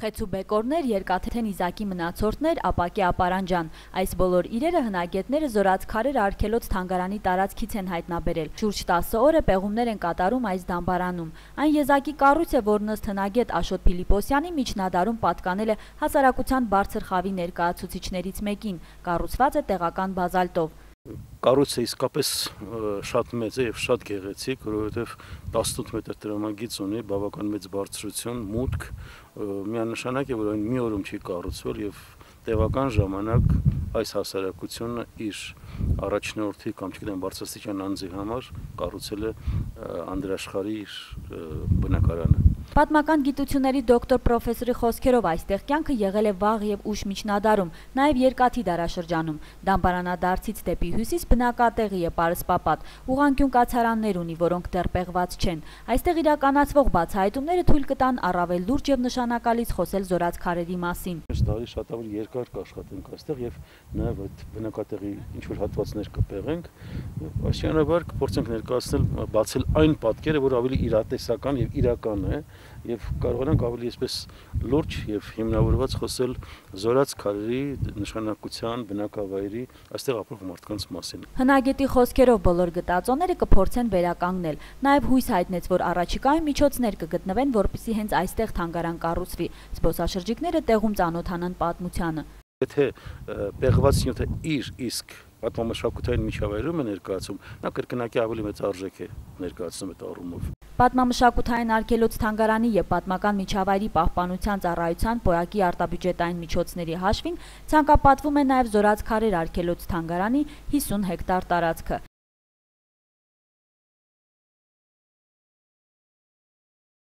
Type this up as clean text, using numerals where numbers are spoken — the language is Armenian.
Խեցու բեկորներ, երկաթեն իզակի մնացորդներ, ապակե ապարանջան։ Այս բոլոր իրերը հնագետները Զորաց քարեր արգելոց թանգարանի տարածքից են հայտնաբերել։ Շուրջ 10 օր է պեղումներ են կատարում այս դամբարանում։ Այն եզակի կառույց է, որն ըստ հնագետ Աշոտ Փիլիպոսյանի միջնադարում պատկանել է հասարակության բարձր խավի ներկայացուցիչներից մեկին։ Կառուցված է տեղական բազալտով։ Կառույցը իսկապես շատ մեծ է եւ շատ գեղեցիկ, որովհետեւ 18 մետր տրամագիծ ունի, բավական մեծ բարձրություն, մուտք, միանշանակ է, որ այն մի օրում չի կառուցվել եւ տևական ժամանակ այս հասարակությունը իր առաջնորդի կամ չգիտեմ բարձրաստիճան անձի համար կառուցել է անդրաշխարհի իր բնակարանը։ Պատմական գիտությունների դոկտոր պրոֆեսորի խոսքերով այստեղ կյանքը եղել է վաղ եւ ուշ միջնադարում, նաեւ երկաթի դարաշրջանում։ Դամբարանադարձից դեպի հյուսիս բնակատեղի է պարսպապատ, ուղղանկյուն կացարաններ ունի, որոնք դեռ պեղված չեն։ Այստեղ իրականացվող բացահայտումները թույլ կտան առավել լուրջ եւ նշանակալից խոսել Զորաց քարերի մասին։ Այս տարի շատ ավելի երկար կաշխատենք այստեղ եւ նաեւ այդ բնակատեղի ինչ որ հատվածներ կպեղենք, աստիճանաբար կփորձենք ներկայացնել, բացել այն պատկերը, որ ավելի իրատեսական եւ իրական է եւ կարողանանք ավելի այսպես լուրջ եւ հիմնավորված խոսել Զորաց քարերի նշանակության, բնակավայրի, այստեղ ապրող մարդկանց մասին։ Հնագետի խոսքերով բոլոր գտածոները կփորձեն վերականգնել։ Նաեւ հույս հայտնեց, որ առաջիկայում միջոցներ կգտնվեն, որպեսզի հենց այստեղ թանգարան կառուցվի։ Զբոսաշրջիկները տեղում ծանոթանան պատմությանը։ Եթե պեղված նյութը իր իսկ պատմամշակութային միջավայրում է ներկայացում, նա կրկնակի ավելի մեծ արժեք է ներկայացնում այդ առումով։ Պատմամշակութային արգելոց թանգարանի եւ պատմական միջավայրի պահպանության ծառայության պոյակի արտաբյուջետային միջոցների հաշվին ցանկապատվում է նաեւ Զորաց քարեր արգելոց թանգարանի 50 հեկտար տարածքը։